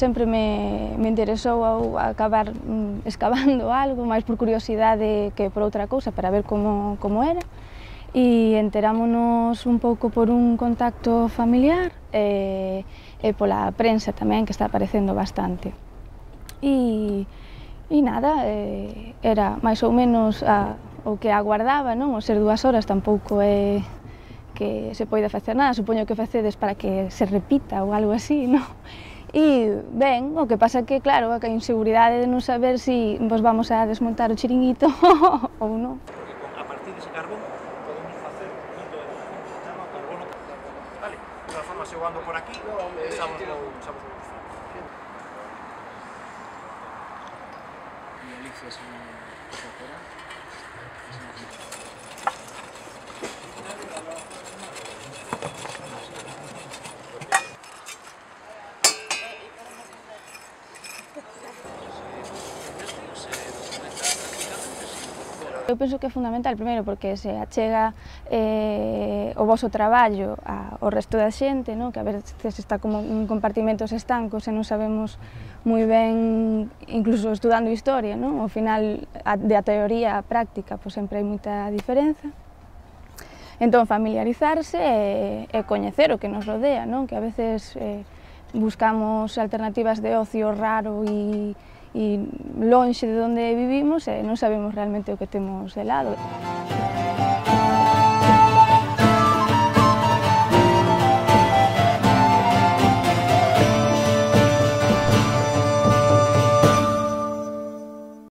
sempre me interesou acabar escavando algo, máis por curiosidade que por outra cousa, para ver como era. E enterámonos un pouco por un contacto familiar e pola prensa tamén, que está aparecendo bastante. E nada, era máis ou menos o que aguardaba, non? O ser 2 horas tampouco é que se poida facer nada, supoño que facedes para que se repita ou algo así, non? E ben, o que pasa que, claro, a inseguridade de non saber se vos vamos a desmontar o chiringuito ou non. A partir dese carbón podemos facer indo de chama carbono. Vale, de todas formas, eu ando por aquí, sabes como Eu penso que é fundamental, primeiro, porque se achega o voso traballo ao resto da xente, non? Que a veces está como en compartimentos estancos e non sabemos moi ben, incluso estudando historia, non? Ao final, da teoría á práctica, pois sempre hai moita diferenza. Entón, familiarizarse e coñecer o que nos rodea, non? Que a veces buscamos alternativas de ocio raro e lonxe de onde vivimos e non sabemos realmente o que temos de lado.